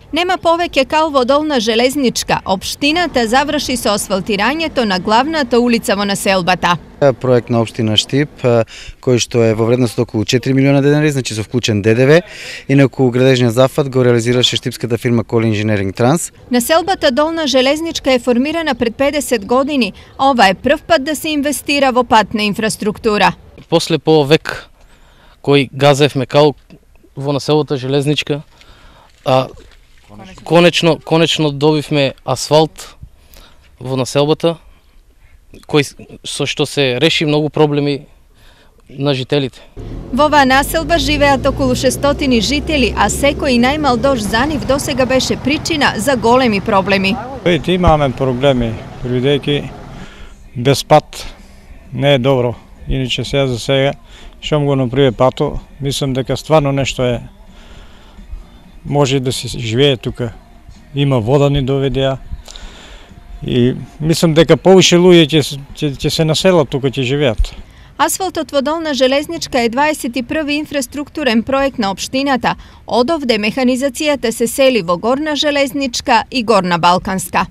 Нема повеќе кал во Долна Железничка. Општината заврши со асфалтирањето на главната улица во населбата. Проект на општина Штип, кој што е во вредност околу 4 милиона денари, значи со вклучен ДДВ, инаку градежниот зафат го реализираше штипската фирма Коли Инженеринг Транс. Населбата Долна Железничка е формирана пред 50 години. Ова е прв пат да се инвестира во патна инфраструктура. После по век кој газевме кал во населбата Железничка, конечно добивме асфалт во населбата, со што се реши многу проблеми на жителите. Во оваа населба живеат околу 600 жители, а секој најмал дожд за нив досега беше причина за големи проблеми. Имаме проблеми, бидејќи без пат не е добро. Иначе за сега, шом го направи пато, мислам дека стварно нешто е. Може да се живее тука. Има вода ни доведеа. И мислам дека повише луѓе ќе се населат тука, ќе живеат. Асфалтот во Долна Железничка е 21-ви инфраструктурен проект на општината. Одовде механизацијата се сели во Горна Железничка и Горна Балканска.